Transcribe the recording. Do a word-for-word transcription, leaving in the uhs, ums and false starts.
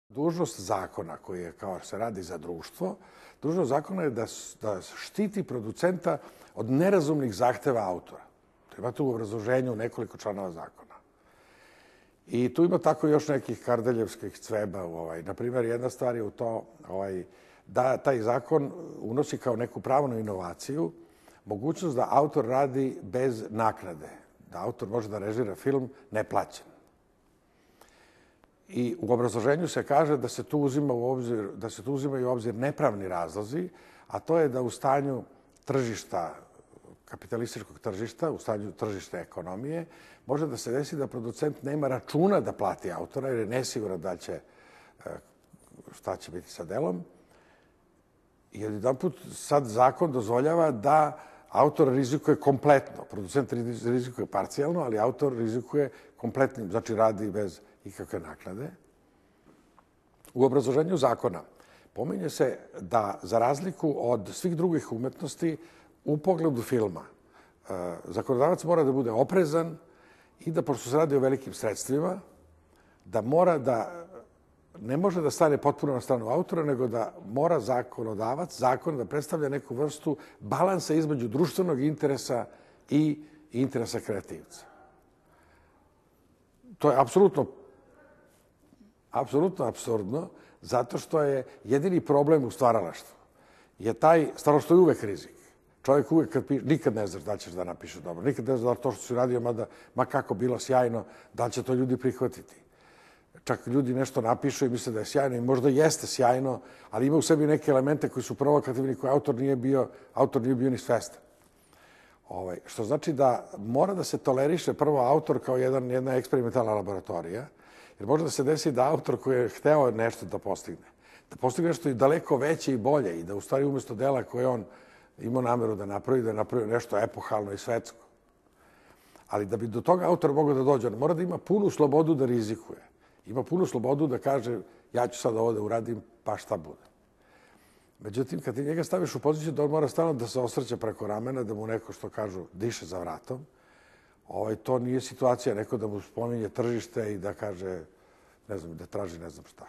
Dužnost zakona koji je, kao se radi za društvo, dužnost zakona je da, da štiti producenta od nerazumnih zahteva autora. To imate u obrazloženju nekoliko članova zakona. I tu ima tako još nekih kardeljevskih cveba. Ovaj. Naprimjer, jedna stvar je u to ovaj, da taj zakon unosi kao neku pravnu inovaciju mogućnost da autor radi bez naknade. Da autor može da režira film neplaćen. I u obrazloženju se kaže da se tu uzima u obzir, da se tu uzimaju u obzir nepravni razlozi, a to je da u stanju tržišta, kapitalističkog tržišta, u stanju tržišne ekonomije, može da se desi da producent nema računa da plati autora jer je nesiguran da će, šta će biti sa delom. I jedanput sad zakon dozvoljava da autor rizikuje kompletno. Producent rizikuje parcijalno, ali autor rizikuje kompletnim, znači radi bez ikakve naknade. U obrazloženju zakona pominje se da, za razliku od svih drugih umetnosti, u pogledu filma zakonodavac mora da bude oprezan i da, pošto se radi o velikim sredstvima, da mora da ne može da stane potpuno na stranu autora, nego da mora zakonodavac, zakon da predstavlja neku vrstu balansa između društvenog interesa i interesa kreativca. To je apsolutno apsolutno apsurdno, zato što je jedini problem u stvaralaštvu. Je taj, stvaralaštvo je uvek rizik. Čovjek uvek kad piše, nikad ne znaš da ćeš da napiše dobro, nikad ne znaš da to što si radio, mada, ma kako bilo sjajno, da će to ljudi prihvatiti. Čak ljudi nešto napišu i misle da je sjajno i možda jeste sjajno, ali ima u sebi neke elemente koji su provokativni, koji autor nije bio, autor nije bio ni svestan. Ovaj, što znači da mora da se toleriše prvo autor kao jedan, jedna eksperimentalna laboratorija, jer može da se desi da autor koji je hteo nešto da postigne, da postigne nešto i daleko veće i bolje i da u stvari umjesto dela koje on imao nameru da napravi, da napravi nešto epohalno i svetsko. Ali da bi do toga autor mogao da dođe, on mora da ima punu slobodu da rizikuje. Ima punu slobodu da kaže ja ću sad ovo da uradim, pa šta bude. Međutim, kad ti njega staviš u poziciju da on mora stalno da se osvrće preko ramena, da mu neko, što kažu, diše za vratom, ovaj, to nije situacija neko da mu spominje tržište i da kaže, ne znam, da traži ne znam šta.